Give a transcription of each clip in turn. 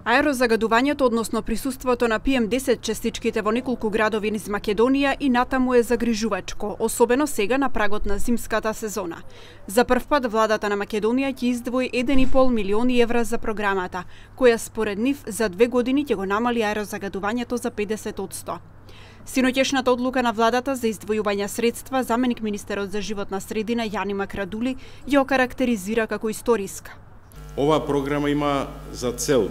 Аерозагадувањето, односно присуството на PM10 честичките во неколку градови низ Македонија и натаму е загрижувачко, особено сега на прагот на зимската сезона. За прв пат владата на Македонија ќе издвои 1,5 милиони евра за програмата, која според нив за 2 години ќе го намали аерозагадувањето за 50%. Синоќешната одлука на владата за издвојување средства, заменик министерот за животна средина Јани Макрадули ја окарактеризира како историска. Оваа програма има за цел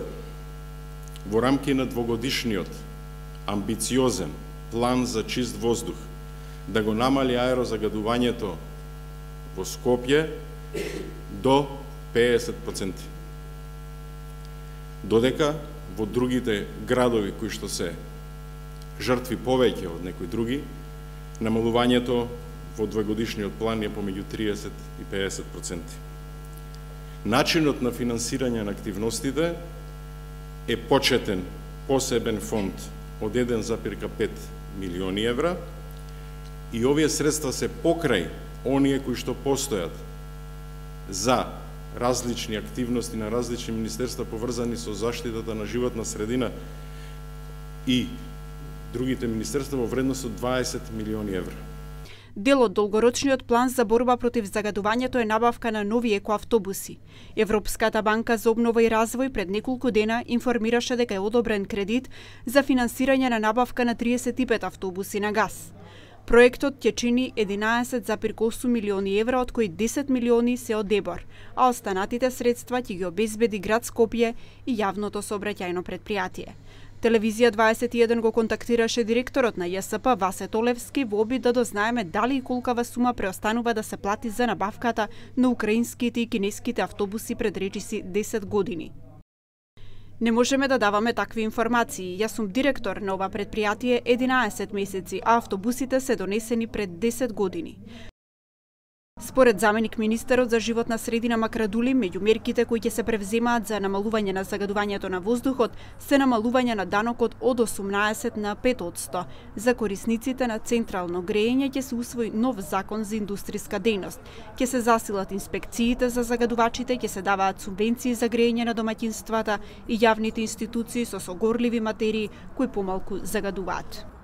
во рамки на двогодишниот амбициозен план за чист воздух да го намали аерозагадувањето во Скопје до 50%. Додека во другите градови кои што се жртви повеќе од некои други, намалувањето во двогодишниот план е помеѓу 30 и 50%. Начинот на финансирање на активностите е почетен посебен фонд од 1,5 милиони евра и овие средства се покрај оние кои што постојат за различни активности на различни министерства поврзани со заштитата на животна средина и другите министерства во вредност од 20 милиони евра. Дел од долгорочниот план за борба против загадувањето е набавка на нови екоавтобуси. Европската банка за обнова и развој пред неколку дена информираше дека е одобрен кредит за финансирање на набавка на 35 автобуси на газ. Проектот ќе чини 11,8 милиони евра, од кои 10 милиони се од ДЕБОР, а останатите средства ќе ги обезбеди град Скопје и јавното сообраќајно претпријатие. Телевизија 21 го контактираше директорот на ЈСП Васе Толевски во обид да дознаеме дали и колкава сума преостанува да се плати за набавката на украинските и кинеските автобуси пред речиси 10 години. Не можеме да даваме такви информации. Јас сум директор на ова претпријатие 11 месеци, а автобусите се донесени пред 10 години. Според заменик министерот за животна средина Макрадули, меѓу мерките кои ќе се превземаат за намалување на загадувањето на воздухот се намалување на данокот од 18 на 5%. За корисниците на централно грејење ќе се усвои нов закон за индустријска дејност. Ќе се засилат инспекциите за загадувачите, ќе се даваат субвенции за грејење на домаќинствата и јавните институции со согорливи материи кои помалку загадуваат.